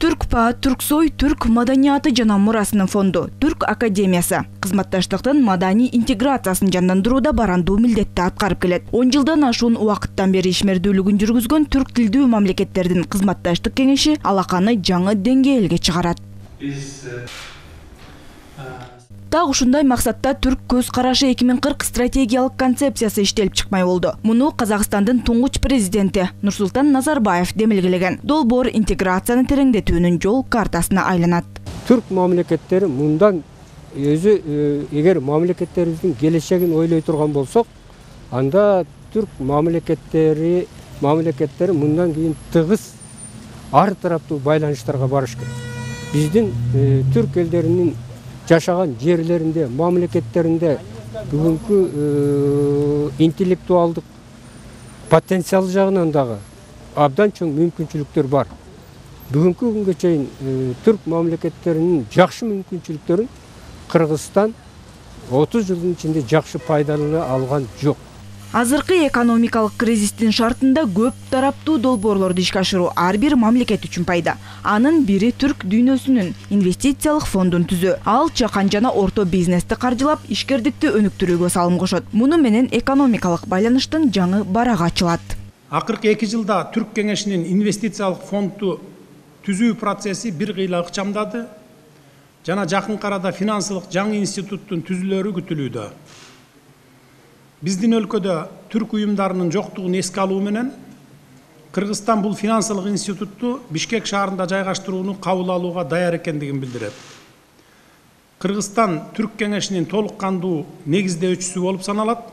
Түркпа, Түрксой, Түрк маданияты жана мурасынын фонду, Түрк академиясы кызматташтыктын маданий интеграциясын жандандырууда барандуу милдетти аткарып келет. 10 жылдан ашуун убакыттан бери ишмердүүлүгүн жүргүзгөн түрк тилдүү мамлекеттердин кызматташтык кеңеши алаканы жаңы деңгээлге чыгарат. Так ушундай максатта Түрк көз карашы 2040 стратегиялык концепциясы иштелип чыкмай болду. Муну Казакстандын туңгуч президенти Нурсултан Назарбаев демилгелеген. Долбоор интеграцияны тереңдетүүнүн жол картасына айланат. Түрк мамлекеттери мындан өзү эгер мамлекеттерибиздин келечегин ойлой турган болсок, анда түрк мамлекеттери мындан кийин тыгыз ар тараптуу байланыштарга барыш керек. Биздин түрк элдеринин жашаган жерлеринде, мамлекеттеринде бүгүнкү интеллектуалдык потенциал жагынан дагы абдан чоң мүмкүнчүлүктөр бар. Бүгүнкү күнгө чейин түрк мамлекеттеринин жакшы мүмкүнчүлүктөрүн Кыргызстан 30 жылдын ичинде жакшы пайдалана алган жок. Азыркы экономикалык кризистин шартында көп тараптуу долбоорлорду ишке ашыруу ар бир мамлекет үчүн пайда. Анын бири түрк дүйнөсүнүн инвестициялык фондун түзүү. Ал чакан жана орто бизнести каржылап, ишкердикти өнүктүрүүгө салым кошот. Муну менен экономикалык байланыштын жаңы барагы ачылат. Акыркы 2 жылда Түрк кеңешинин инвестициялык фондду түзүү процесси бир кыйла ыкчамдады жана жакынкы арада финансылык жаңы институттун түзүлөрү күтүлүүдө. Биздин өлкөдө түрк уюмдарынын жоктугун эске алуу менен Кыргызстан бул финансылык институтту Бишкек шаарында жайгаштырууну кабыл алууга даяр экендигин билдирет. Кыргызстан түрк кеңешинин толук кандуу негиздөөчүсү болуп саналат.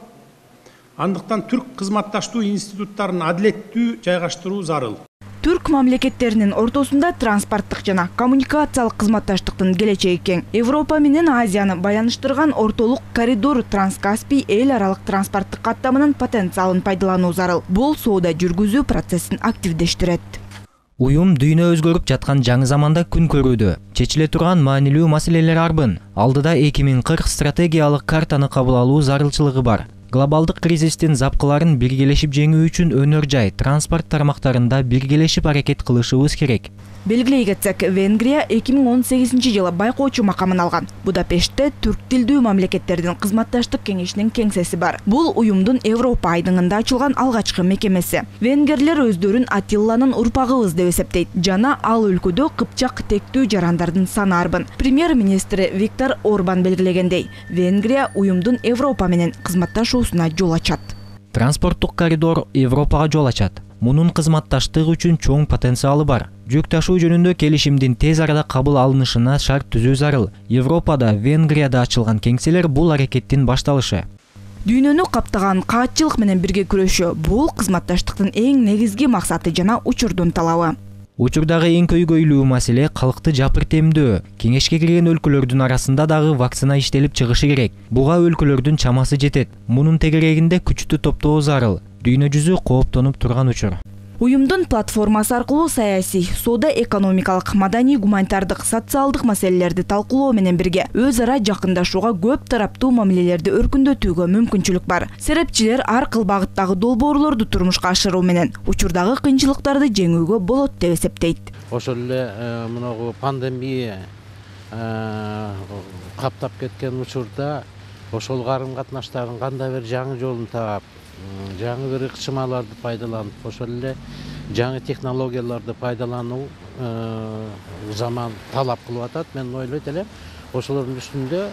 Андыктан түрк кызматташтуу институттарын адилеттүү жайгаштыруу зарыл. Түрк мамлекеттеринин ортосунда транспорттук жана коммуникациялык кызматташтыктын келечеги кең. Европа менен Азияны байланыштырган ортолук коридор Транскаспий эл аралык транспорттук каттамынын потенциалын пайдалануу зарыл. Бул соода жүргүзүү процессин активдештирет. Уюм дүйнө өзгөрүп жаткан жаңы заманда күн көрүүдө. Чечиле турган маанилүү маселелер арбын. Алдыда 2040 стратегиялык картаны кабыл алуу зарылчылыгы бар. Глобалдык кризистин запкыларын биргелешип жеңүү үчүн өнөр жай, транспорт тармактарында биргелешип аракет кылышыбыз керек. Белгилей кетсек, Венгрия 2018-жылы байкоочу макамын алган. Будапештте түрк тилдүү мамлекеттердин кызматташтык кеңешинин кеңсеси бар. Бул уюмдун Европа айдыңында ачылган алгачкы мекемеси. Венгерлер өздөрүн Атилланын урпагыбыз деп эсептейт жана ал өлкөдө кыпчак тектүү жарандардын саны арбын. Премьер-министри Виктор Орбан белгилегендей, Венгрия уюмдун Европа менен кызматташуусуна жол ачат. Транспорттук коридор Европага жол ачат. Мунун кызматташтык үчүн чоң потенциалы бар. Жүк ташуу жөнүндө келишимдин тез арада кабыл алынышына шарт түзүү зарыл. Европада, Венгрияда ачылган кеңселер бул аракеттин башталышы. Дүйнөнү каптаган каатчылык менен бирге күрөшүү бул кызматташтыктын эң негизги максаты жана учурдун талабы. Учурдагы эң көйгөйлүү маселе калкты жапыртемдөө. Кеңешке кирген өлкөлөрдүн арасында дагы вакцина иштелип чыгышы керек. Буга өлкөлөрдүн чамасы жетет. Мунун тегерегинде күчтү топтоо зарыл. Дүйнө жүзү кооптонуп турган учур. Уюмдун платформасы аркылуу саясий, соода экономикалык, маданий, гуманитардык, социалдык маселелерди талкуулоо менен бирге өз ара жакындашууга, көп тараптуу мамилелерди өркүндөтүүгө мүмкүнчүлүк бар. Серепчилер ар кыл багыттагы долбоорлорду турмушка ашыруу менен учурдагы кыйынчылыктарды жеңүүгө болот деп эсептейт. Ошол эле мынагу пандемия каптап кеткен учурда ошол карым катнаштардын кандай бир жаңы жолун таап, жаңы бир ыкчымаларды пайдаланып, ошол эле жаңы технологияларды пайдалануу заман талап кылып атат. Мен ойлойт элем, ошолордун үстүндө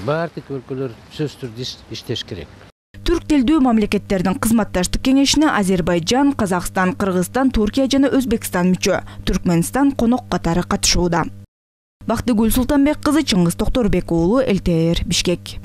баардык өлкөлөр сөзсүз түрдө иштеш керек. Түрк тилдүү мамлекеттердин кызматташтык кеңешине Азербайжан, Казакстан, Кыргызстан, Туркия жана Өзбекстан мүчө, Түркмөнстан конок катары катышууда. Бактыгүл Султанбек кызы, Чыңгыз Токторбек уулу, ЛТР, Бишкек.